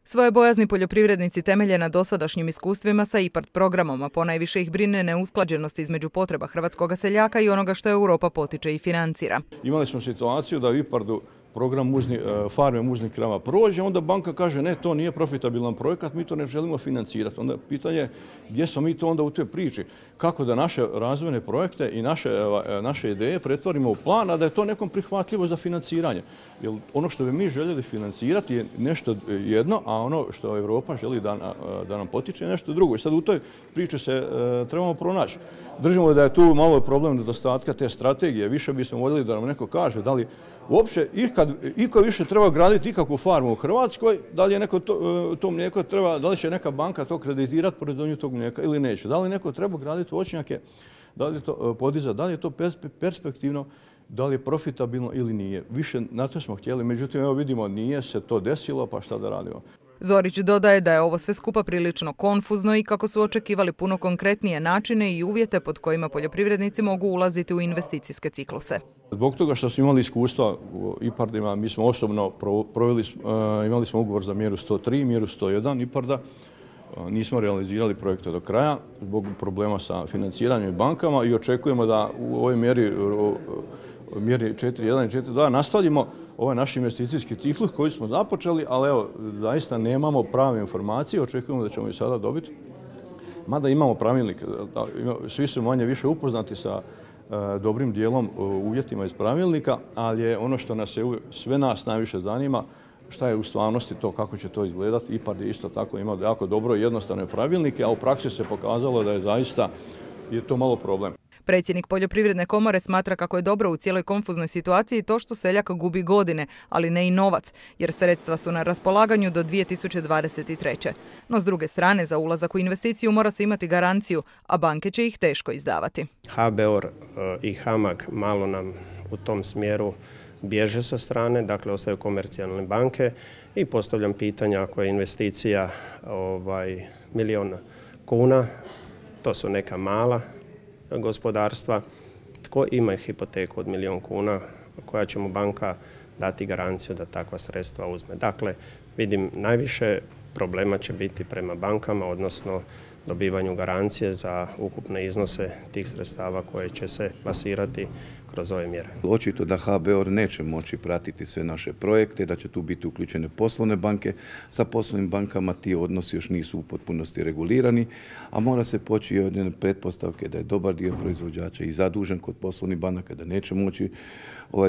Svoje bojazni poljoprivrednici temelje na dosadašnjim iskustvima sa IPARD programom, a ponajviše ih brine neusklađenost između potreba hrvatskog seljaka i onoga što Europa potiče i financira. Imali smo situaciju da u IPARD-u program farme muznih krava prođe, onda banka kaže ne, to nije profitabilan projekat, mi to ne želimo financirati. Onda pitanje je gdje smo mi to onda u toj priči? Kako da naše razvojne projekte i naše ideje pretvorimo u plan, a da je to nekom prihvatljivo za financiranje? Jer ono što bi mi željeli financirati je nešto jedno, a ono što Europa želi da nam potiče je nešto drugo. I sad u toj priči se trebamo pronaći. Držimo da je tu malo problem nedostatka te strategije. Više bismo voljeli da nam neko kaže da li uopće iko više treba graditi ikakvu farmu u Hrvatskoj, da li je neko to mlijeko treba, da li će neka banka to kreditirati proizvodnju tog mlijeka ili neće. Da li neko treba graditi voćnjake, da li je to podizati, da li je to perspektivno, da li je profitabilno ili nije. Više na to smo htjeli, međutim evo vidimo nije se to desilo, pa šta da radimo. Zorić dodaje da je ovo sve skupa prilično konfuzno i kako su očekivali puno konkretnije načine i uvjete pod kojima poljoprivrednici mogu ulaziti u investicijske cikluse. Zbog toga što smo imali iskustva u IPARD-ima, mi smo osobno imali smo ugovor za mjeru 103, mjeru 101 IPARD-a. Nismo realizirali projekte do kraja zbog problema sa financiranjem i bankama i očekujemo da u ovoj mjeri 4.1 i 4.2 nastavimo ovaj naš investicijski ciklus koji smo započeli, ali evo, zaista nemamo prave informacije, očekujemo da ćemo i sada dobiti. Mada imamo pravilnik, svi su manje više upoznati sa dobrim dijelom uvjetima iz pravilnika, ali je ono što sve nas najviše zanima, šta je u stvarnosti to, kako će to izgledati. IPARD je isto tako imao jako dobro i jednostavne pravilnike, a u praksi se pokazalo da je zaista to malo problem. Predsjednik Poljoprivredne komore smatra kako je dobro u cijeloj konfuznoj situaciji to što seljak gubi godine, ali ne i novac, jer sredstva su na raspolaganju do 2023. No s druge strane, za ulazak u investiciju mora se imati garanciju, a banke će ih teško izdavati. HBOR i HAMAG malo nam u tom smjeru bježe sa strane, dakle ostaju komercijalne banke i postavljam pitanja ako je investicija milion kuna, to su neka mala gospodarstva, tko ima hipoteku od milion kuna, koja će mu banka dati garanciju da takva sredstva uzme. Dakle, vidim najviše problema će biti prema bankama, odnosno dobivanju garancije za ukupne iznose tih sredstava koje će se plasirati kroz ove mjere. Očito da HBOR neće moći pratiti sve naše projekte, da će tu biti uključene poslovne banke. Sa poslovnim bankama ti odnosi još nisu u potpunosti regulirani, a mora se poći od jedne pretpostavke da je dobar dio proizvođača i zadužen kod poslovnih banaka, da neće moći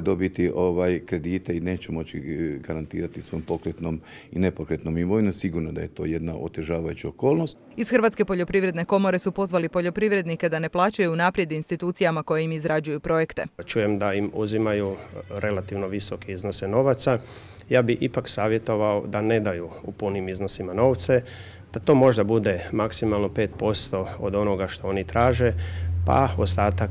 dobiti kredite i neće moći garantirati svom pokretnom i nepokretnom imovinom. Sigurno da je to jedna otežavajuća okolnost. Iz Hrvatske poljoprivredne komore su pozvali poljoprivrednike da ne plaćaju unaprijed institucijama koje im izrađuju projekte. Čujem da im uzimaju relativno visoke iznose novaca. Ja bi ipak savjetovao da ne daju u punim iznosima novce, da to možda bude maksimalno 5% od onoga što oni traže, pa ostatak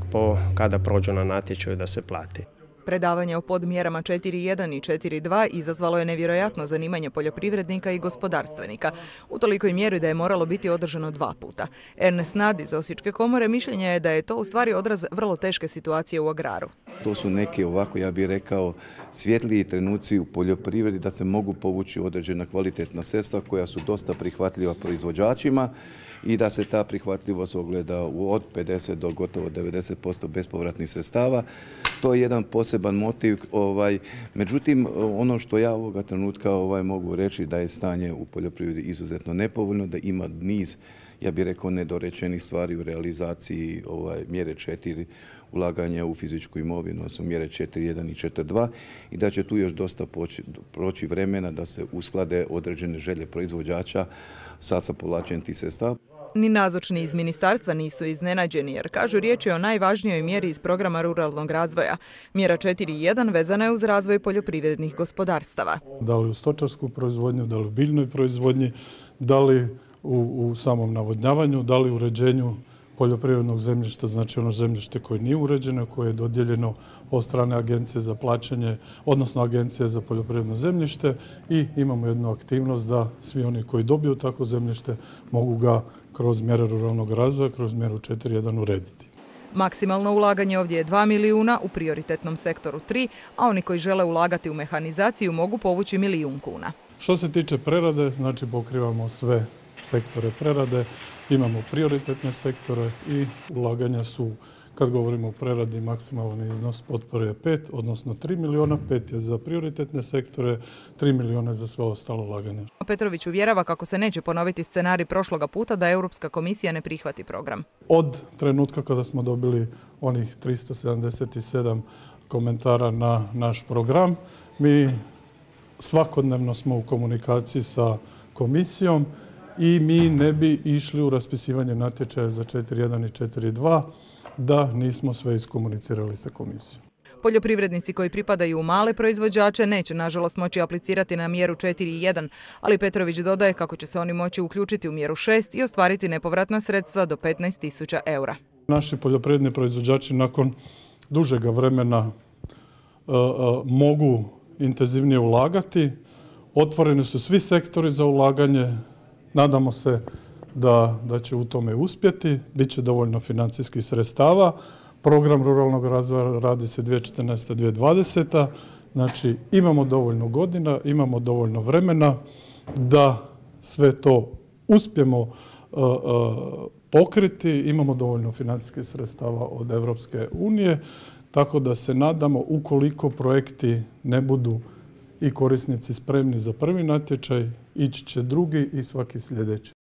kada prođu na natječaju da se plati. Predavanje o podmjerama 4.1 i 4.2 izazvalo je nevjerojatno zanimanje poljoprivrednika i gospodarstvenika. U tolikoj mjeri da je moralo biti održano 2 puta. Ernest Nad iz Osječke komore mišljenja je da je to u stvari odraz vrlo teške situacije u agraru. To su neki ja bih rekao, svjetliji trenuci u poljoprivredi da se mogu povući određena kvalitetna sredstva koja su dosta prihvatljiva proizvođačima i da se ta prihvatljivost ogleda od 50 do gotovo 90% bespovratnih sredstava. To je jedan poseban motiv. Međutim, ono što ja ovoga trenutka mogu reći da je stanje u poljoprivredi izuzetno nepovoljno, da ima niz, ja bih rekao, nedorečenih stvari u realizaciji mjere 4 ulaganja u fizičku imovinu, odnosno mjere 4.1 i 4.2 i da će tu još dosta proći vremena da se usklade određene želje proizvođača sa povlačenjem tih sredstava. Ni nazočni iz ministarstva nisu iznenađeni jer kažu riječ je o najvažnijoj mjeri iz programa ruralnog razvoja. Mjera 4.1 vezana je uz razvoj poljoprivrednih gospodarstava. Da li u stočarsku proizvodnju, da li u biljnoj proizvodnji, da li u samom navodnjavanju, da li u uređenju poljoprivrednog zemljišta, znači ono zemljište koje nije uređeno, koje je dodijeljeno od strane Agencije za plaćanje, odnosno Agencije za poljoprivredno zemljište i imamo jednu aktivnost da svi oni koji dobiju takvo zemljište mogu ga kroz mjere ruralnog razvoja, kroz mjeru 4.1 urediti. Maksimalno ulaganje ovdje je 2 milijuna, u prioritetnom sektoru 3, a oni koji žele ulagati u mehanizaciju mogu povući 1 milijun kuna. Što se tiče prerade, znači pokrivamo sve sektore prerade, imamo prioritetne sektore i ulaganja su, kad govorimo o preradi, maksimalan iznos potpore je 5, odnosno 3 milijuna, 5 je za prioritetne sektore, 3 milijuna za sve ostalo ulaganje. Petrović uvjerava kako se neće ponoviti scenarij prošloga puta da Europska komisija ne prihvati program. Od trenutka kada smo dobili onih 377 komentara na naš program, mi svakodnevno smo u komunikaciji sa komisijom i mi ne bi išli u raspisivanje natječaja za 4.1 i 4.2 da nismo sve iskomunicirali sa komisijom. Poljoprivrednici koji pripadaju u male proizvođače neće nažalost moći aplicirati na mjeru 4.1, ali Petrović dodaje kako će se oni moći uključiti u mjeru 6 i ostvariti nepovratna sredstva do 15.000 eura. Naši poljoprivredni proizvođači nakon dužega vremena mogu intenzivnije ulagati. Otvoreni su svi sektori za ulaganje. Nadamo se da će u tome uspjeti. Biće dovoljno financijskih sredstava. Program ruralnog razvoja radi se 2014-2020. Znači imamo dovoljno godina, imamo dovoljno vremena da sve to uspijemo pokriti. Imamo dovoljno financijskih sredstava od Europske unije. Tako da se nadamo, ukoliko projekti ne budu i korisnici spremni za prvi natječaj, ići će drugi i svaki sljedeći.